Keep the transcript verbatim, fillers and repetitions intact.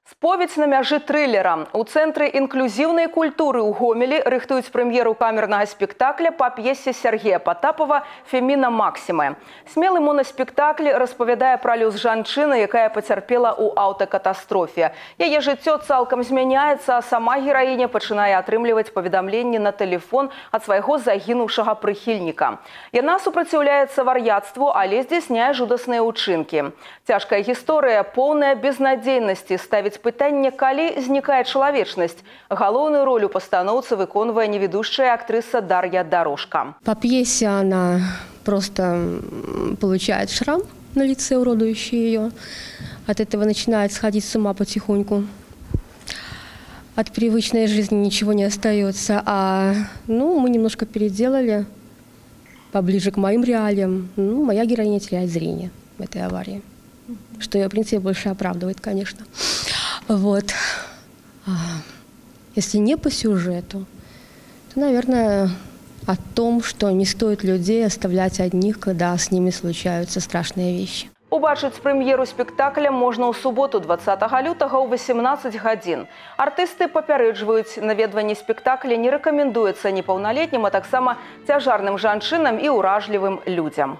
Споведь на мяжы трылера. У Цэнтры інклюзіўнай культуры ў Гомелі рыхтуюць прэм'еру камернага спектакля па п'есе Сергея Потапова «Феміна Максімы». Смелы моноспектакль распавядае пра лёс жанчыны, якая пацярпела ў аўтакатастрофе. Яе жыццё цалкам змяняецца, а сама гераіня пачынае атрымліваць паведамленні на тэлефон ад свайго загінуўшага прыхільніка. Яна супраціўляецца вар'яцтву, але здзяйсняе жудасныя ўчынкі. Цяжкая гісторыя, поўная безнадзейнасці, ставіць пытанне, калі знікае чалавечнасць. Галоўную роль у пастаноўцы выконвае неведущая актрыса Дарья Дорожка. По пьесе она просто получает шрам на лице, уродующий ее. От этого начинает сходить с ума потихоньку. От привычной жизни ничего не остается. А ну, мы немножко переделали поближе к моим реалиям. Ну, моя героиня теряет зрение в этой аварии. Что ее, в принципе, больше оправдывает, конечно. Вот. Если не по сюжету, то, наверное, о том, что не стоит людей оставлять одних, когда с ними случаются страшные вещи. Убачыць прэм'еру спектакля можна ў суботу дваццатага лютага ў васемнаццаць гадзін. Артысты папярэджваюць, наведванне спектакля не рэкамендуецца непаўналетнім, а таксама цяжарным жанчынам і ўражлівым людзям.